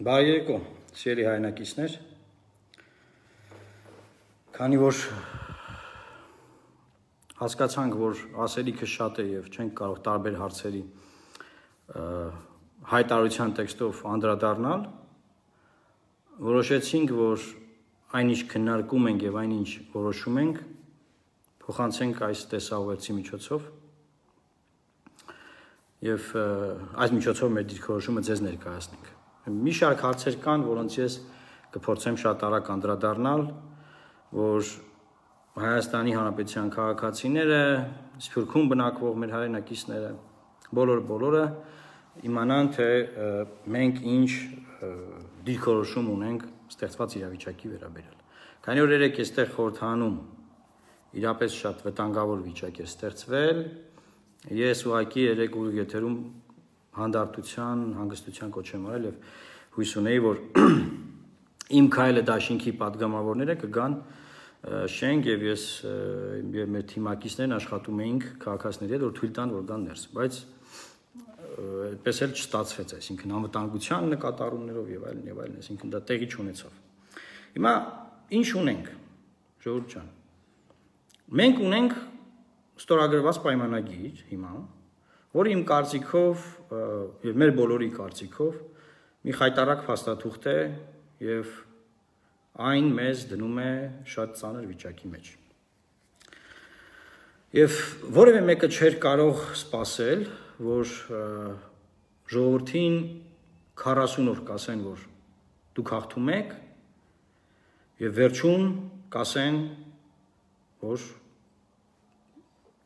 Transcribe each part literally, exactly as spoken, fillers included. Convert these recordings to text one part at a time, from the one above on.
Բարի երեկո, սիրելի հայրենակիցներ, քանի որ հասկացանք, որ ասելիքը շատ է եւ չենք կարող տարբեր հարցերի հայտարարության տեքստով անդրադառնալ, որոշեցինք, որ այնինչ քննարկում ենք եւ այնինչ որոշում ենք, փոխանցենք այս տեսահոլովակի միջոցով եւ այս միջոցով մեր դիրքորոշումը ձեզ ներկայացնենք։ Մի շարք հարցեր կան, որոնց ես կփորձեմ շատ արագ անդրադառնալ, որ Հայաստանի Հանրապետության քաղաքացիները, Սփյուռքում բնակվող մեր հայրենակիցները, բոլոր բոլորը իմանան, թե մենք ինչ դիրքորոշում ունենք ստեղծված իրավիճակի վերաբերյալ։ Քանի որ երեք էստեղ խորհրդանում իրապես շատ վտանգավոր վիճակ է ստեղծվել, ես ուղղակի երեք ուղիղ եթերում հանդարտության, հանգստության կոչ եմ արել եւ հույս ունեի, որ իմ քայլը դաշինքի падգամավորները կգան շենք եւ ես եւ մեր թիմակիցներն աշխատում էինք քաղաքացիների հետ, որ թույլ տան, որ գան ներս, բայց այդպես էլ չստացվեց, այսինքն անվտանգության նկատառումներով եւ այլն եւ այլն, այսինքն դա տեղի չունեցավ։ Հիմա ինչ ունենք, ժողովուրդ ջան։ Մենք ունենք ստորագրված պայմանագիր հիմա, որը իմ կարծիքով եւ մեր բոլորի կարծիքով մի խայտարակ փաստաթուղթ է եւ այն մեզ դնում է շատ ծանր վիճակի մեջ։ Եվ որևէ մեկը չէր կարող սպասել, որ ժողովրդին քառասուն օր կասեն, որ դուք հաղթում եք եւ վերջում կասեն, որ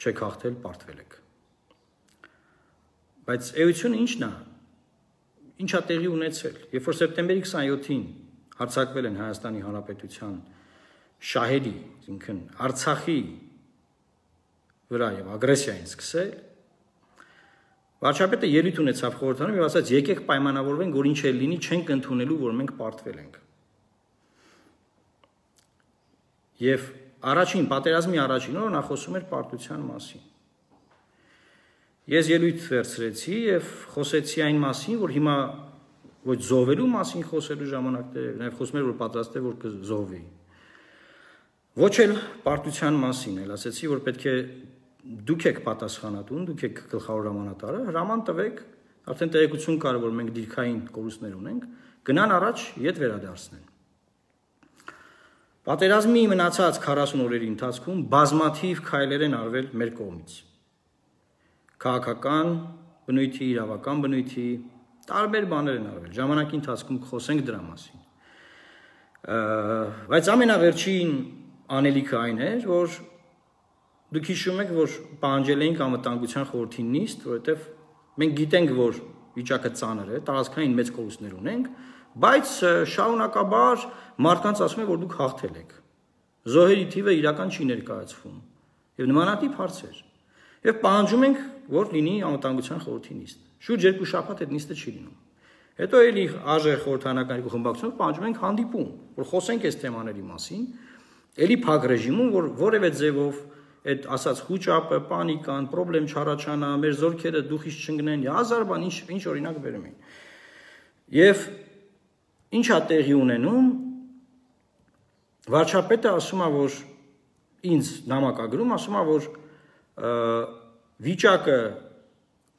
չեք հաղթել, պարտվել եք։ Բայց էությունը ի՞նչն է, ի՞նչ է տեղի ունեցել, երբ որ սեպտեմբերի քսաներկուին հարձակվել են Հայաստանի Հանրապետության շահերի, այսինքն Արցախի վրա եւ ագրեսիա են սկսել, վարչապետը ելույթ ունեցավ խորհրդանում եւ ասաց՝ եկեք պայմանավորվենք, որ ինչ էլ լինի, չենք ընդունելու, որ մենք պարտվել ենք։ Եվ առաջին պատերազմի առաջին օրը նա խոսում էր պարտության մասին։ Ես ելույթ վերցրեցի եւ խոսեցի այն մասին, որ հիմա ոչ զոհվելու մասին խոսելու ժամանակներ, նաեւ խոսում էր, որ պատրաստ է, որ կզոհվի։ Ոչ էլ պարտության մասին, էլ ասեցի, որ պետք է դուք եք պատասխանատուն, դուք եք գլխավոր հրամանատարը, հրաման տվեք, արդեն տեղեկություն կար, որ մենք դիրքային կորուստներ ունենք, գնան առաջ ետ վերադարձնեն։ Պատերազմի մնացած քառասուն օրերի ընթացքում բազմաթիվ քայլեր են արվել մեր կողմից։ Քաղաքական բնույթի, իրավական բնույթի, տարբեր բաներ են արվել։ Ժամանակի ընթացքում կխոսենք դրա մասին։ Բայց ամենավերջին անելիքը այն էր, որ դուք հիշում եք, որ պահանջել էինք անվտանգության խորհրդի նիստ, որովհետև մենք գիտենք, որ վիճակը ծանր է, տարածքային մեծ կորուստներ ունենք, բայց շարունակաբար մարդկանց ասում են, որ դուք հաղթել եք։ Զոհերի թիվը իրական չի ներկայացվում եւ նմանատիպ հարցեր։ Եվ պահանջում ենք, որ լինի անվտանգության խորհրդի նիստ։ Շուրջ երկու շաբաթ այդ նիստը չի լինում։ Հետո էլի ԱԺ խորհրդանական երկու խմբակցությունով պահանջում ենք հանդիպում, որ խոսենք այս թեմաների մասին, էլի փակ ռեժիմում, որ որևէ ձևով այդ ասած խուճապը, պանիկան, խնդրեմ չառաջանա, մեր զորքերը դուխից չընկնեն, հազար բան ինչ ինչ օրինակ բերում են։ Եվ ինչ է տեղի ունենում, վարչապետը ասում է, որ ինձ նամակագրում, ասում է, որ վիճակը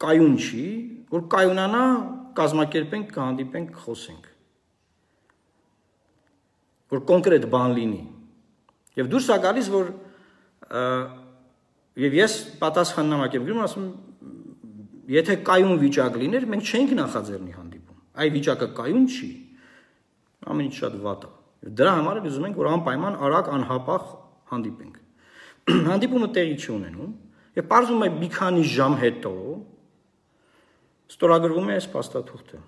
կայուն չի, որ կայունանա, կազմակերպենք, կհանդիպենք, կխոսենք, որ կոնկրետ բան լինի։ Եվ դուրս է գալիս, որ եւ ես պատասխան նամակ եմ գրում, ասում եթե կայուն վիճակ լիներ, մենք չենք նախաձեռնի հանդիպում։ Այ վիճակը կայուն չի, ամեն ինչ շատ վատ է։ Դրա համար էլ ուզում ենք, որ անպայման արագ անհապաղ հանդիպենք։ Հանդիպումը տեղի չի ունենում, եւ պարզվում է մի քանի ժամ հետո ստորագրվում է այս փաստաթուղթը։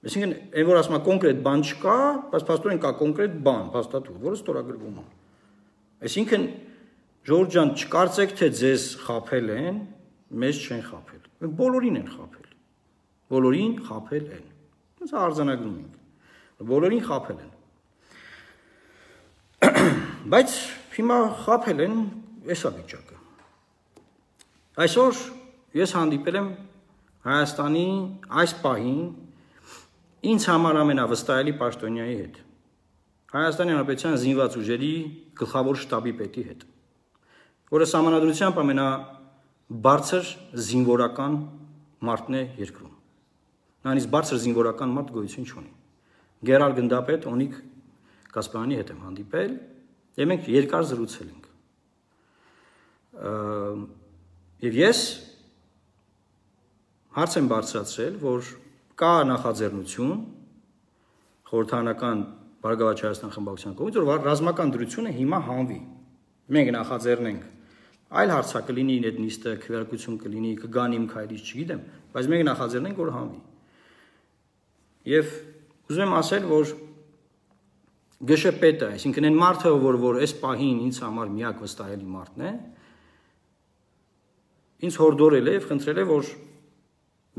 Այսինքն, այն որ ասում է կոնկրետ բան չկա, բայց փաստորեն կա կոնկրետ բան, փաստաթուղթ, որը ստորագրվում է։ Այսինքն, ժողովուրդ ջան, չկարծեք, թե ձեզ խաբել են, մեզ չեն խաբել։ Մենք բոլորին են խաբել։ Բոլորին խաբել են։ Ոնց արձանագրում ենք։ Բոլորին խաբել են։ Բայց հիմա խաբել են էսա վիճակը։ Այսօր ես հանդիպել եմ Հայաստանի այս պահին ինձ համար ամենավստահելի պաշտոնյայի հետ, Հայաստանի Հանրապետության զինված ուժերի գլխավոր շտաբի պետի հետ, որը սահմանադրությամբ ամենաբարձր զինվորական մարդն է երկրում։ Նույնիսկ բարձր զինվորական մարդ գոյություն չունի։ Գերալ գնդապետ Օնիկ Կասպարյանի հետ եմ հանդիպել, եւ մենք երկար զրուցել ենք։ Եվ ես հարց եմ բարձրացրել, որ կա նախաձեռնություն խորհրդարանական Բարգավաճ Հայաստան խմբակցության կողմից, որ ռազմական դրությունը հիմա հանվի։ Մենք նախաձեռնենք այլ հարցա կլինի, այդ նիստը քվեարկություն կլինի, կգան իմ քայլից, չգիտեմ, բայց մենք նախաձեռնենք, որ հանվի։ Եվ ուզում եմ ասել, որ գշեպետը, այսինքն այն մարդը, որ որ այս պահին ինձ համար միակ վստահելի մարդն է, ինձ հորդորել է եւ խնդրել է, որ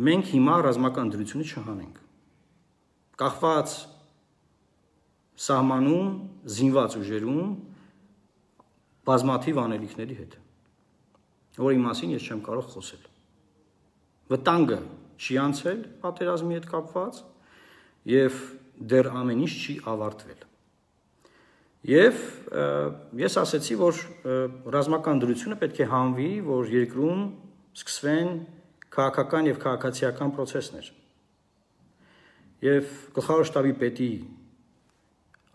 մենք հիմա ռազմական դրությունը չհանենք։ Կախված սահմանում, զինված ուժերում բազմաթիվ անելիքների հետ, որի մասին ես չեմ կարող խոսել։ Վտանգը չի անցել պատերազմի հետ կապված եւ դեռ ամեն ինչ չի ավարտվել։ Եվ ես ասացի, որ ռազմական դրությունը պետք է հանվի, որ երկրում սկսվեն քաղաքական եւ քաղաքացիական process-ներ։ Եվ գլխավոր շտաբի պետի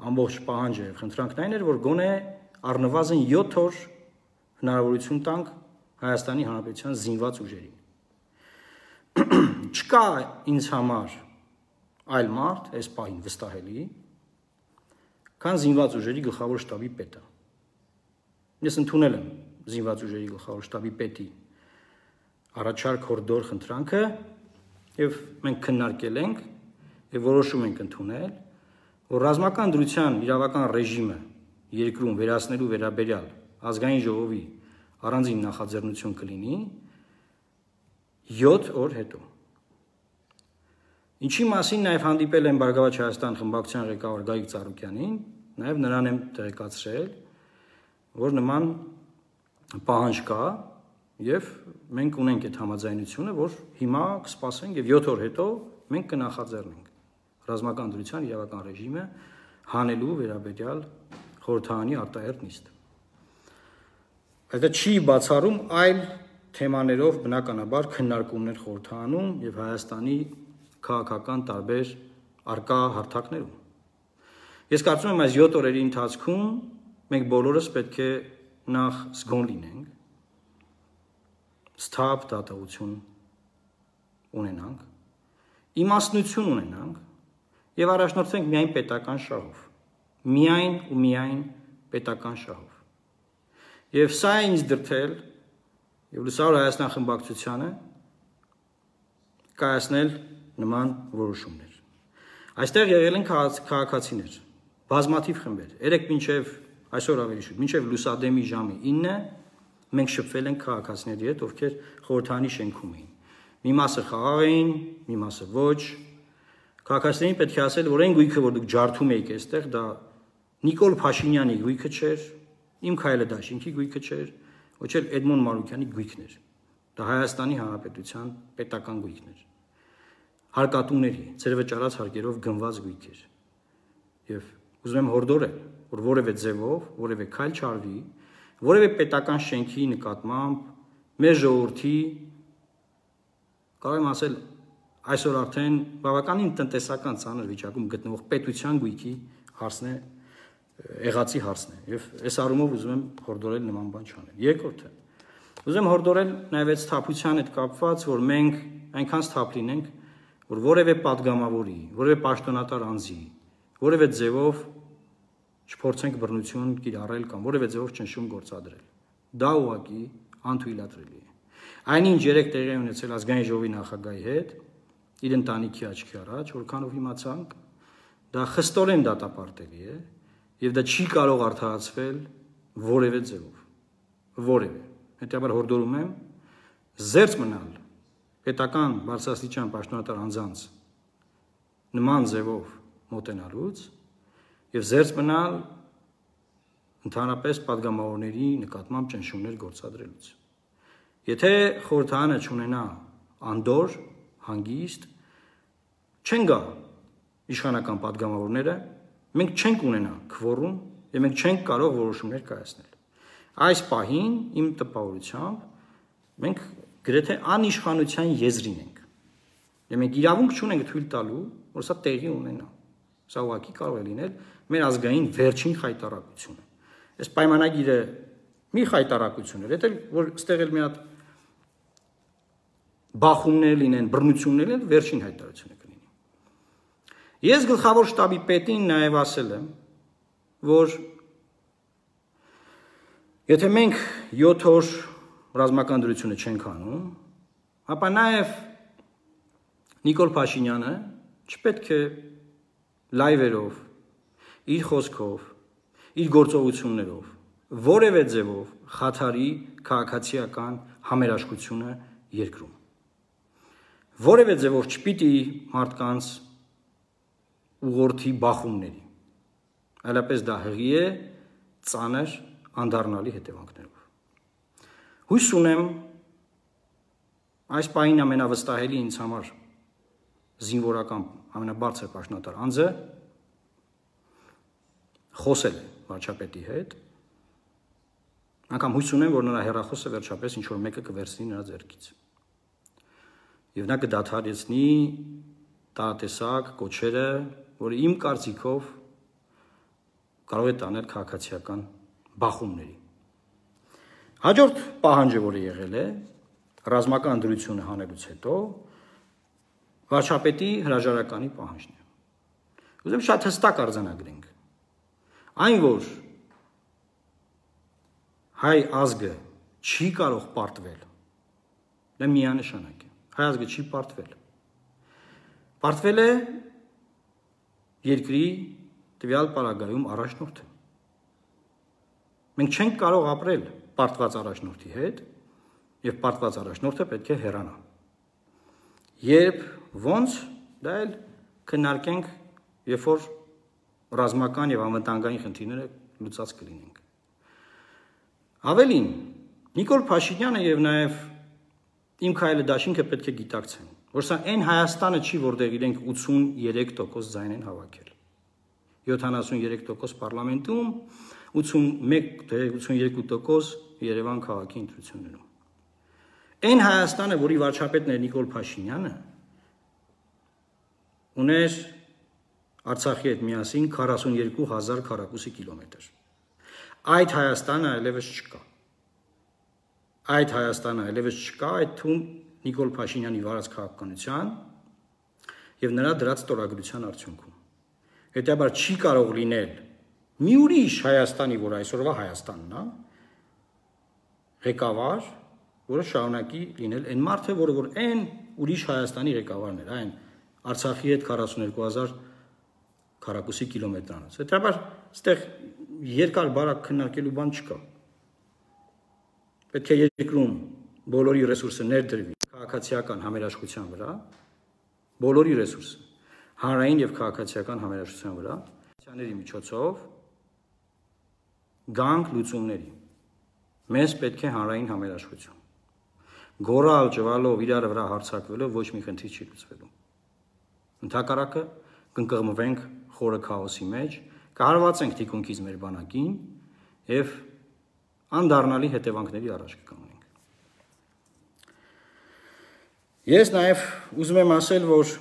ամբողջ պահանջը եւ խնդրանքն այն էր, որ գոնե առնվազն յոթ օր հնարավորություն տանք Հայաստանի Հանրապետության զինված ուժերին։ Չկա ինձ համար այլ մարդ, այս պահին վստահելի, քան զինված ուժերի գլխավոր շտաբի պետը։ Ես ընդունել եմ զինված ուժերի գլխավոր շտաբի պետի առաջարկ հորդոր խնդրանքը եւ մենք քննարկել ենք եւ որոշում ենք ընդունել, որ ռազմական դրության իրավական ռեժիմը երկրում վերացնելու վերաբերյալ ազգային ժողովի առանձին նախաձեռնություն կլինի յոթ օր հետո։ Ինչի մասին նաև հանդիպել եմ Բարգավաճ Հայաստան խմբակցության ղեկավար Գագիկ Ծառուկյանին, նաև նրան եմ տեղեկացրել, որ նման պահանջ կա եւ մենք ունենք այդ համաձայնությունը, որ հիմա կսպասենք եւ յոթ օր հետո մենք կնախաձեռնենք ռազմական դրության իրավական ռեժիմը հանելու վերաբերյալ խորհրդարանի արտահերթ նիստ։ Այդ չի բացառում այլ թեմաներով բնականաբար քննարկումներ խորհրդարանում եւ Հայաստանի քաղաքական տարբեր արկա հարթակներում։ Ես կարծում եմ այս յոթ օրերի ընթացքում մենք բոլորս պետք է նախ զգոն լինենք, սթափ դատողություն ունենանք, իմաստնություն ունենանք եւ առաջնորդվենք միայն պետական շահով, միայն ու միայն պետական շահով։ Եվ սա է ինձ դրդել եւ Լուսավոր Հայաստան խմբակցությանը կայացնել նման որոշումներ։ Այստեղ եղել են քաղաքացիներ, բազմաթիվ խմբեր։ Երեք մինչև այսօր ավելի շուտ, մինչև լուսադեմի ժամը ինը մենք շփվել ենք քաղաքացիների հետ, ովքեր խորհրդարանի շենքում էին։ Մի մասը խաղաղ էին, մի մասը ոչ։ Քաղաքացիներին պետք է ասել, որ այն գույքը, որ դուք ջարդում եք այստեղ, դա Նիկոլ Փաշինյանի գույքը չէր, իմ քայլը դաշինքի գույքը չէր, ոչ էլ Էդմոն Մանուկյանի գույքն էր։ Դա Հայաստանի Հանրապետության պետական գույքն էր։ Հարկատուների, ծերվը ճարած հարկերով գնված գույք էր։ Եվ ուզում եմ հորդորել, որ որևէ ձևով, որևէ քայլ չարվի, որևէ պետական շենքի նկատմամբ մեր ժողովրդի կարող եմ ասել այսօր արդեն բավականին տնտեսական ծանր վիճակում գտնվող պետության գույքի հարցն է, եղածի հարցն է, եւ այս առումով ուզում եմ հորդորել նման բան չանել։ Երկրորդը, ուզում եմ հորդորել նաեւ այդ սթափության հետ կապված, որ մենք այնքան սթափ լինենք, որ որևէ падգամավորի, որևէ պաշտոնատար անձի, որևէ ձևով չփորձենք բռնություն կիրառել կամ որևէ ձևով ճնշում գործադրել։ Դա ուղղակի անթույլատրելի է։ Այնինչ երեք տեղի ունեցել ազգային ժողովի նախագահի հետ, իր ընտանիքի աչքի առաջ, որքանով իմացանք, դա խստորեն դատապարտելի է եւ դա չի կարող արդարացվել որևէ ձևով, որևէ։ Հետեւաբար հորդորում եմ զերծ մնալ պետական բարձրաստիճան պաշտոնատար անձանց նման ձևով մոտենալուց եւ զերծ մնալ ընդհանրապես падգամավորների նկատմամբ ճնշումներ գործադրելուց։ Եթե խորհրդարանը չունենա անդոր, հանգիստ, չեն գա իշխանական պատգամավորները, մենք չենք ունենա քվորում եւ մենք չենք կարող որոշումներ կայացնել։ Այս պահին իմ տպավորությամբ մենք գրեթե անիշխանության եզրին ենք։ Եվ մենք իրավունք չունենք թույլ տալու, որ սա տեղի ունենա։ Սա ուղղակի կարող է լինել մեր ազգային վերջին խայտարակությունը։ Այս պայմանագիրը մի խայտարակություն էր, դա որ ստեղ էլ մի հատ բախումներ լինեն, բռնություններ լինեն, վերջին հայտարարությունը կլինի։ Ես գլխավոր շտաբի պետին նաև ասել եմ, որ եթե մենք յոթ օր ռազմական դրությունը չենք անում, ապա նաև Նիկոլ Փաշինյանը չպետք է լայվերով, իր խոսքով, իր գործողություններով, որևէ ձևով խաթարի քաղաքացիական համերաշխությունը երկրում։ Որևէ ձևով չպիտի մարդկանց ուղղորդի բախումների, այլապես դա հղի է ծանր անդառնալի հետևանքներով։ Հույս ունեմ այս պահին ամենավստահելի ինձ համար զինվորական ամենաբարձր պաշտոնատար անձը խոսել է վարչապետի հետ, անգամ հույս ունեմ, որ նրա հեռախոսը վերջապես ինչ-որ մեկը կվերցնի նրա ձեռքից։ Եվ նա կդադարեցնի տարատեսակ կոչերը, որը իմ կարծիքով կարող է տանել քաղաքացիական բախումների։ Հաջորդ պահանջը, որը եղել է, ռազմական դրությունը հանելուց հետո վարչապետի հրաժարականի պահանջն է։ Ուզում շատ հստակ արձանագրենք։ Այն, որ հայ ազգը չի կարող պարտվել, դա միանշանակ է։ Հայ ազգը չի պարտվել։ Պարտվել է երկրի տվյալ պարագայում առաջնորդը։ Մենք չենք կարող ապրել պարտված առաջնորդի հետ, եւ պարտված առաջնորդը պետք է հեռանա։ Երբ ոնց դա էլ քննարկենք, երբ որ ռազմական եւ անվտանգային խնդիրները լուծած կլինենք։ Ավելին, Նիկոլ Փաշինյանը եւ նաեւ իմ քայլը դաշինքը պետք է գիտակցեն, որ սա այն Հայաստանը չի, որտեղ իրենք ութսուներեք տոկոս ձայն են հավաքել։ յոթանասուներեք տոկոս պարլամենտում, ութսունմեկ թե ութսուներեք տոկոս Երևան քաղաքի ընտրություններում։ Այն Հայաստանը, որի վարչապետն էր Նիկոլ Փաշինյանը, ուներ Արցախի հետ միասին քառասուներկու հազար քառակուսի կիլոմետր։ Այդ Հայաստանը այլևս չկա։ Այդ Հայաստանը այլևս չկա, այդ թվում Նիկոլ Փաշինյանի վարած քաղաքականության եւ նրա դրած ստորագրության արդյունքում։ Հետաբար չի կարող լինել մի ուրիշ Հայաստանի, որ այսօրվա Հայաստանն է, ղեկավար, որը շարունակի լինել այն մարդը, որը որ այն ուրիշ Հայաստանի ղեկավարն էր, այն Արցախի հետ քառասուներկու հազար քառակուսի կիլոմետրանոց։ Հետաբար այստեղ երկար բարակ քննարկելու բան չկա։ Պետք է երկրում բոլորի ռեսուրսը ներդրվի քաղաքացիական համերաշխության վրա, բոլորի ռեսուրսը հանրային եւ քաղաքացիական համերաշխության վրա, ների միջոցով գանք լուծումների։ Մեզ պետք է հանրային համերաշխություն։ Գորալ ճվալով իրար վրա հարցակվելով ոչ մի խնդիր չի լուծվելու։ Ընդհակառակը կընկղմվենք խորը քաոսի մեջ, կհարվածենք թիկունքից մեր բանակին եւ անդառնալի հետևանքների առաջ կկանգնենք։ Ես նաեւ ուզում եմ ասել, որ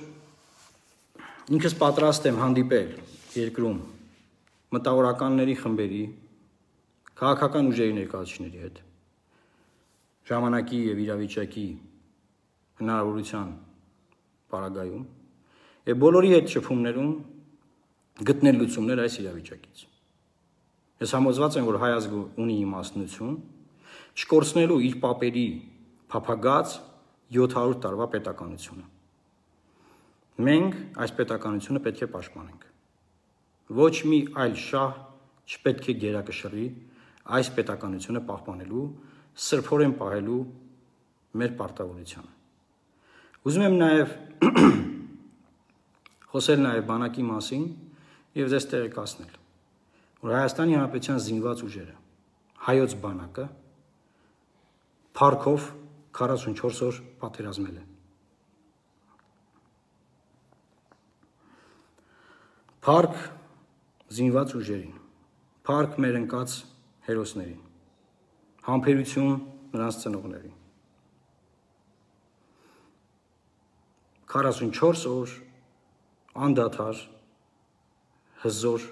ինքս պատրաստ եմ հանդիպել երկրում մտավորականների խմբերի, քաղաքական ուժերի ներկայացուցիչների հետ, ժամանակի եւ իրավիճակի հնարավորության պարագայում եւ բոլորի հետ շփումներում գտնել լուծումներ այս իրավիճակից։ Ես համոզված եմ, որ հայ ազգը ունի իմաստնություն չկորցնելու իր պապերի փափագած յոթ հարյուր տարվա պետականությունը։ Մենք այս պետականությունը պետք է պաշտպանենք։ Ոչ մի այլ շահ չպետք է գերակշռի այս պետականությունը պահպանելու, սրբորեն պահելու մեր պարտավորությունը։ Ուզում եմ նաև խոսել նաև բանակի մասին եւ ձեզ տեղեկացնել, որ Հայաստանի Հանրապետության զինված ուժերը, հայոց բանակը փառքով քառասունչորս օր պատերազմել է։ Փառք զինված ուժերին, փառք մեր ընկած հերոսներին, համբերություն նրանց ծնողներին։ քառասունչորս օր անդադար հզոր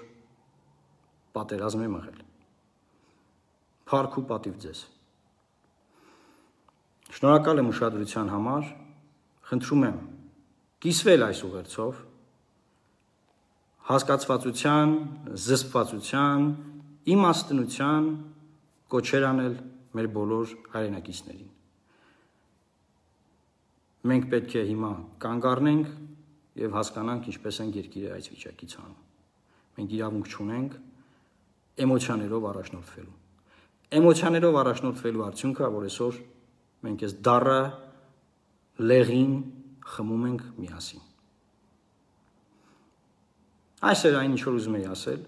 պատերազմ է մղել։ Փառք ու պատիվ ձեզ։ Շնորհակալ եմ ուշադրության համար, խնդրում եմ կիսվել այս ուղերձով, հասկացվածության, զսպվածության, իմաստնության կոչեր անել մեր բոլոր հայրենակիցներին։ Մենք պետք է հիմա կանգ առնենք եւ հասկանանք ինչպես են երկիրը այս վիճակից հանում։ Մենք իրավունք չունենք էմոցիաներով առաջնորդվելու։ Էմոցիաներով առաջնորդվելու արդյունքը, որ այսօր մենք այս դառը լեղին խմում ենք միասին։ Այս էր այն, ինչ որ ուզում էի ասել։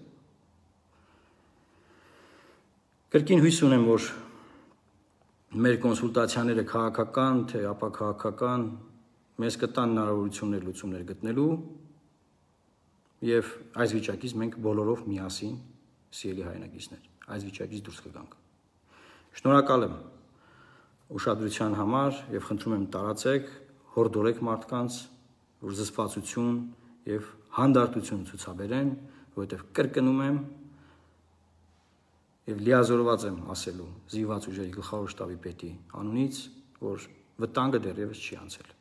Կրկին հույս ունեմ, որ մեր կոնսուլտացիաները քաղաքական, թե ապաքաղաքական մեզ կտան հնարավորություններ լուծումներ գտնելու եւ այս վիճակից մենք բոլորով միասին, սիրելի հայրենակիցներ, այս վիճակից դուրս կգանք։ Շնորհակալ եմ ուշադրության համար եւ խնդրում եմ տարածեք, հորդորեք մարդկանց, որ զսպվածություն եւ հանդարտություն ցուցաբերեն, որովհետեւ կրկնում եմ եւ լիազորված եմ ասելու զինված ուժերի գլխավոր շտաբի պետի անունից, որ վտանգը դեռևս չի անցել։